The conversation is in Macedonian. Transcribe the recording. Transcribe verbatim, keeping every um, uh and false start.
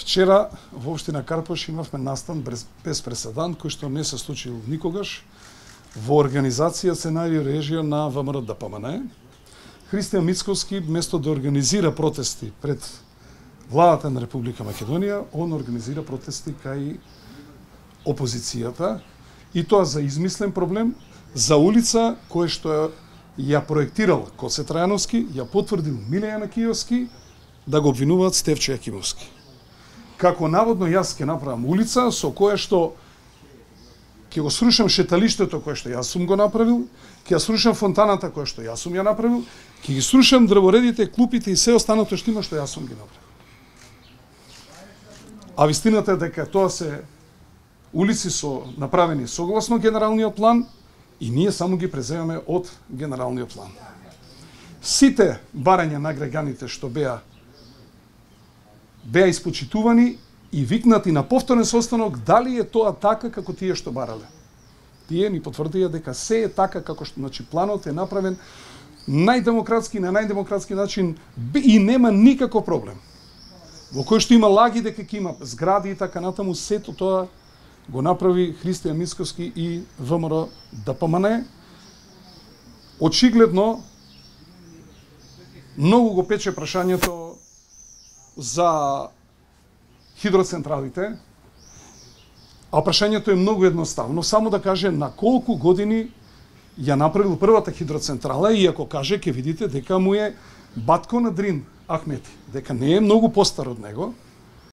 Вчера во општина Карпош имавме настан без преседан, кој што не се случил никогаш во организација, сценарио, режија на ВМРО Д П М Н. Христијан Мицковски, место да организира протести пред владата на Република Македонија, он организира протести кај опозицијата, и тоа за измислен проблем, за улица која што ја проектирал Коце Трајановски, ја потврдил Миле Јанакиевски, да го обвинуваат Стефчо Јакимовски. Како наводно јас ќе направам улица со која што ќе го срушам шеталиштето кое што јас сум го направил, ќе ја срушам фонтаната која што јас сум ја направил, ќе ги срушам дрворедите, клупите и се останато што има што јас сум ги направил. А вистината е дека тоа се улици со направени согласно генералниот план и ние само ги преземаме од генералниот план. Сите барања на граѓаните што беа беа испочитувани и викнати на повторен состанок дали е тоа така како тие што барале. Тие ни потврдија дека се е така како што, значи, планот е направен најдемократски, на најдемократски начин и нема никаков проблем. Во кој што има лаги дека ќе има згради и така натаму, сето тоа го направи Христијан Мицковски и ВМРО Д П М Н. Очигледно многу го пече прашањето за хидроцентралите, а прашањето е многу едноставно. Само да каже на колку години ја направил првата хидроцентрала, и ако каже, ќе видите дека му е батко на Дрин Ахмети, дека не е многу постар од него,